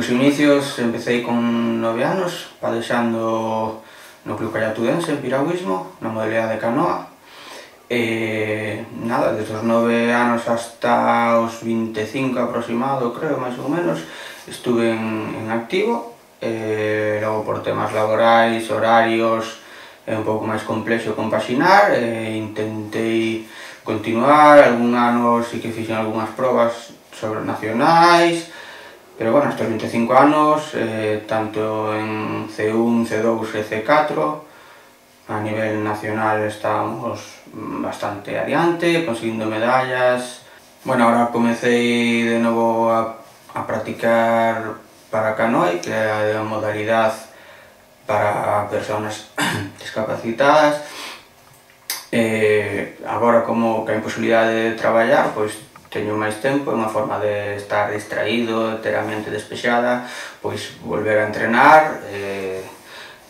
meus inicios empecé con 9 anos, padexando no Club Callatudense en piragüismo, na modalidade de canoa. Nada, desde os 9 anos hasta os 25 aproximado, creo, máis ou menos, estuve en activo. Logo, por temas laborais, horarios, é un pouco máis complexo compaxinar, intentei continuar, algún ano sí que fixen algunhas probas sobre nacionais, pero bueno, hasta os 25 anos, tanto en C1, C2 e C4, a nivel nacional estábamos bastante adiante, conseguindo medallas. Bueno, ahora comecei de novo a practicar para canoa, que é a modalidade para persoas discapacitadas. Agora, como que hai posibilidade de traballar, pois teño máis tempo, é unha forma de estar distraído, ter a mente despexada, pois volver a entrenar.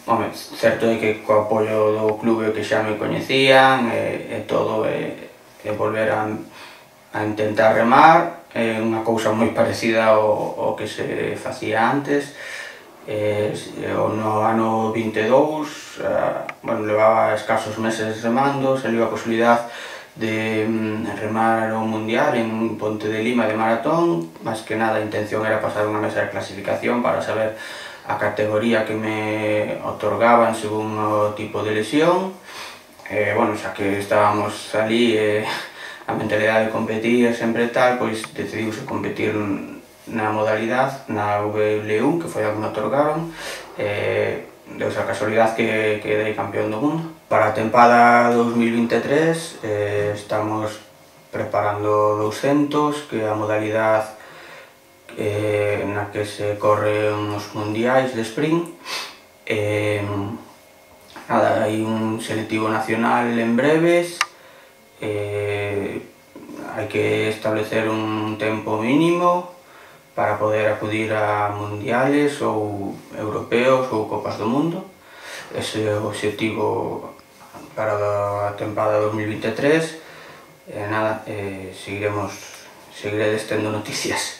Home, certo é que co apoio do clube que xa me coñecían e todo, volver a intentar remar, é unha cousa moi parecida ao que se facía antes. No ano 22, bueno, levaba escasos meses remando, saliu a posibilidade de remar o mundial en Ponte de Lima de maratón. Máis que nada a intención era pasar unha mesa de clasificación para saber a categoría que me otorgaban según o tipo de lesión. Bueno, xa que estábamos ali, a mentalidade de competir sempre tal, pois decidiuse competir na modalidade, na VL1, que foi a que me otorgaron. Deus a casualidade que quedei campeón do mundo. Para a tempada 2023 estamos preparando 200, que é a modalidade na que se corren os mundiais de sprint. Nada, hai un selectivo nacional en breves, hai que establecer un tempo mínimo para poder acudir a mundiales ou europeos ou copas do mundo. Ese é o obxectivo para a tempada 2023. Nada, seguiredes tendo noticias.